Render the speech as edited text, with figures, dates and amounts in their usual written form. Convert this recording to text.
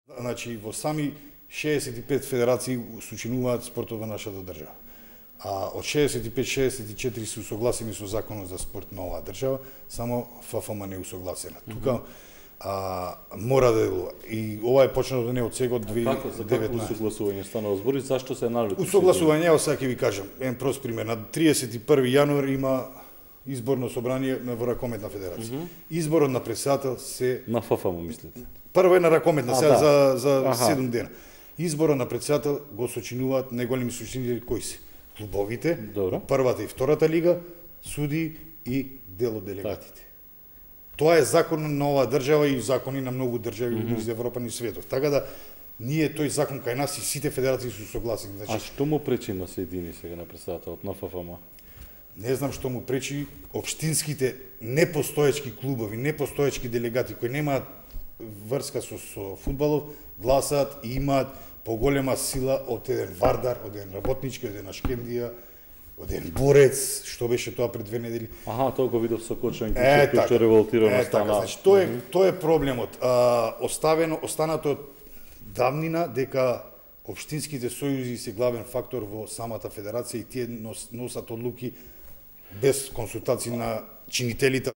Значи, во сами 65 федерации сочинуваат спортот во нашата држава. А од 65-64 се усогласени со законот за спорт на оваа држава, само ФФМ не усогласена. Тука мора да делува. И ова е почнато не од сега од 2019. За какво усогласување станува збор и зашто се налути? Усогласување, ево сега ќе ви кажам, еден прост пример. На 31 јануари има изборно собрание во Ракометна федерација. Изборот на претседател се на ФФМ мислите? Прво е на Ракометна, сега да. за 7 дена. Изборот на претседател го сочинуваат најголеми сочинители кои се клубовите, Добро. првата и втората лига, суди и дел од делегатите. Тоа е закон на оваа држава и закони на многу држави из Европа и светот. Така да ние тој закон кај нас и сите федерации се согласени. А што му пречи на се едини сега на претседателот на ФФМ? Не знам што му пречи општинските непостоечки клубови, непостоечки делегати кои немаат врска со фудбалов, гласаат и имаат поголема сила од еден Вардар, од еден Работнички, од еден Ашкендија, од еден Борец, што беше тоа пред 2 недели. Тоа го видов со Кочан кој што револтирано стана. Значи, тоа е проблемот. Останато од давнина дека општинските сојузи се главен фактор во самата федерација и тие носат одлуки без консултации на чинителите.